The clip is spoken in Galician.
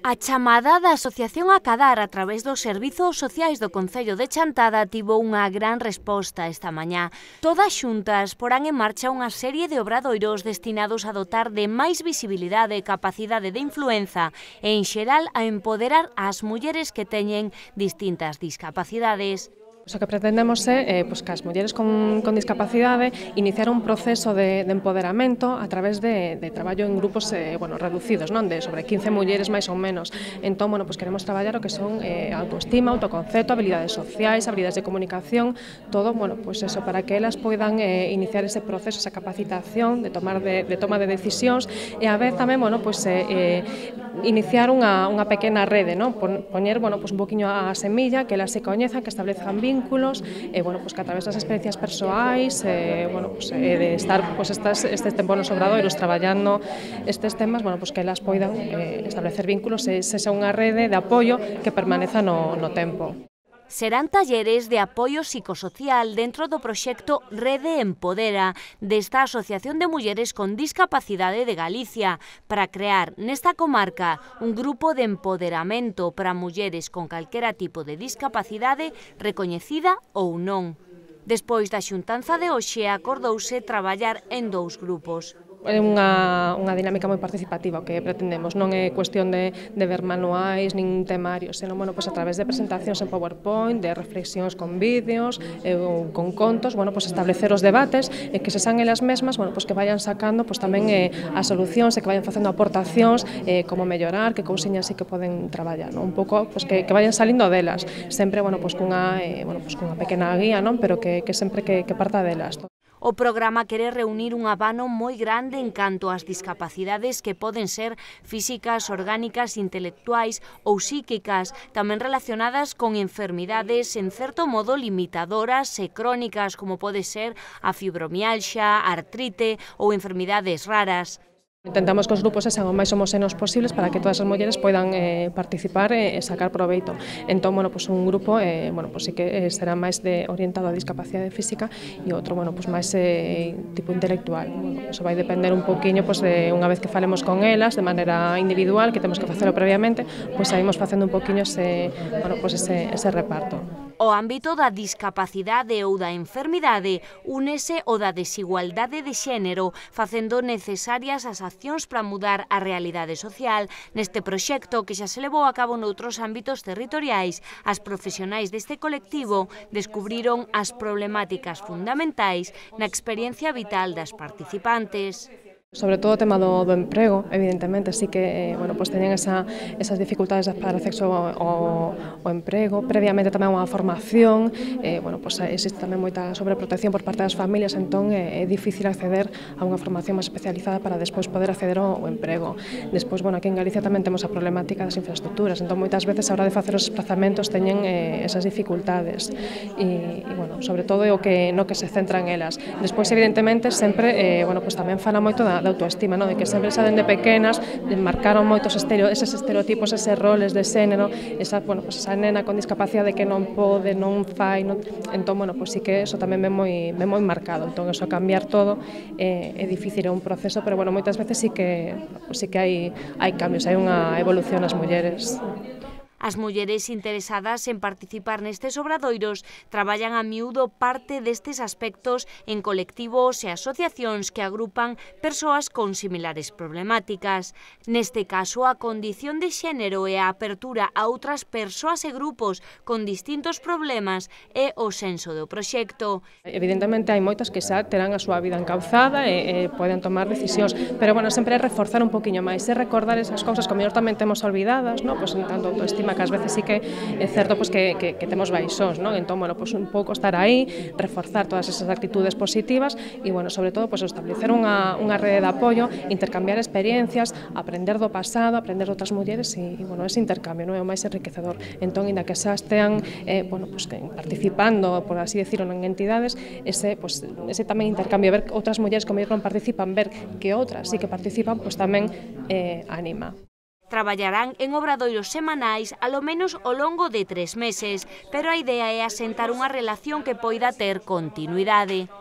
A chamada da Asociación Acadar a través dos servizos sociais do Concello de Chantada tivo unha gran resposta esta mañá. Todas xuntas porán en marcha unha serie de obradoiros destinados a dotar de máis visibilidade e capacidade de influenza e, en xeral, a empoderar as mulleres que teñen distintas discapacidades. O que pretendemos é que as mulleres con discapacidade iniciar un proceso de empoderamento a través de traballo en grupos reducidos, non de sobre 15 mulleres máis ou menos. Entón, queremos traballar o que son autoestima, autoconcepto, habilidades sociais, habilidades de comunicación, todo, eso, para que elas poidan iniciar ese proceso, esa capacitación de toma de decisións e a vez tamén, iniciar unha pequena rede, poñer, un poquinho a semilla, que elas se coñezan, que establezcan vínculos, que a través das experiencias persoais, de estar estes tempos nos obradoiros traballando estes temas, que elas poidan establecer vínculos e sexa unha rede de apoio que permaneza no tempo. Serán talleres de apoio psicosocial dentro do proxecto Rede Empodera desta Asociación de Mulleres con Discapacidade de Galicia para crear nesta comarca un grupo de empoderamento para mulleres con calquera tipo de discapacidade recoñecida ou non. Despois da xuntanza de hoxe acordouse traballar en 2 grupos. É unha dinámica moi participativa o que pretendemos, non é cuestión de ver manuais nin temarios, senón a través de presentacións en PowerPoint, de reflexións con vídeos, ou con contos, establecer os debates e que se san elas mesmas, que vayan sacando tamén as solucións e que vayan facendo aportacións, como mellorar, que cousiñas sí que poden traballar, un pouco que vayan salindo delas, sempre cunha pequena guía, pero que sempre que parta delas. O programa quere reunir un abano moi grande en canto ás discapacidades que poden ser físicas, orgánicas, intelectuais ou psíquicas, tamén relacionadas con enfermidades en certo modo limitadoras e crónicas como pode ser a fibromialxa, a artrite ou enfermidades raras. Intentamos que os grupos sexan o máis homoxéneos posibles para que todas as mulleres poidan participar e sacar proveito. Entón, un grupo sí que será máis orientado á discapacidade física e outro, máis tipo intelectual. Eso vai depender un poquinho, unha vez que falemos con elas de maneira individual, que temos que facelo previamente, saímos facendo un poquinho ese reparto. O ámbito da discapacidade ou da enfermidade únese o da desigualdade de xénero, facendo necesarias as accións para mudar a realidade social. Neste proxecto, que xa se levou a cabo noutros ámbitos territoriais, as profesionais deste colectivo descubriron as problemáticas fundamentais na experiencia vital das participantes. Sobre todo o tema do emprego, evidentemente, sí que teñen esas dificultades para acceso ao emprego, previamente tamén unha formación, existe tamén moita sobreprotección por parte das familias, entón é difícil acceder a unha formación máis especializada para despois poder acceder ao emprego. Despois, aquí en Galicia tamén temos a problemática das infraestructuras, entón moitas veces a hora de facer os desplazamentos teñen esas dificultades e sobre todo no que se centran elas. Despois, evidentemente, sempre tamén fala moito da autoestima, de que sempre xa dende pequenas marcaron moitos eses estereotipos, eses roles de xénero, esa nena con discapacidade que non pode, non fai, entón, sí que eso tamén ven moi marcado, entón, eso cambiar todo é difícil, é un proceso, pero moitas veces sí que hai cambios, hai unha evolución nas mulleres. As mulleres interesadas en participar nestes obradoiros traballan a miúdo parte destes aspectos en colectivos e asociacións que agrupan persoas con similares problemáticas. Neste caso, a condición de xénero e a apertura a outras persoas e grupos con distintos problemas é o senso do proxecto. Evidentemente, hai moitas que xa terán a súa vida encauzada e poden tomar decisións, pero, sempre é reforzar un poquinho máis, é recordar esas cousas que mellor tamén temos olvidadas, en tanto autoestima, que ás veces sí que é certo que temos baixóns, entón, un pouco estar aí, reforzar todas esas actitudes positivas e, sobre todo, establecer unha rede de apoio, intercambiar experiencias, aprender do pasado, aprender de outras mulleres e, ese intercambio é o máis enriquecedor. Entón, inda que xa estean participando, por así decirlo, en entidades, ese tamén intercambio, ver outras mulleres que non participan, ver que outras sí que participan, tamén anima. Traballarán en obradoiros semanais alo menos ao longo de 3 meses, pero a idea é asentar unha relación que poida ter continuidade.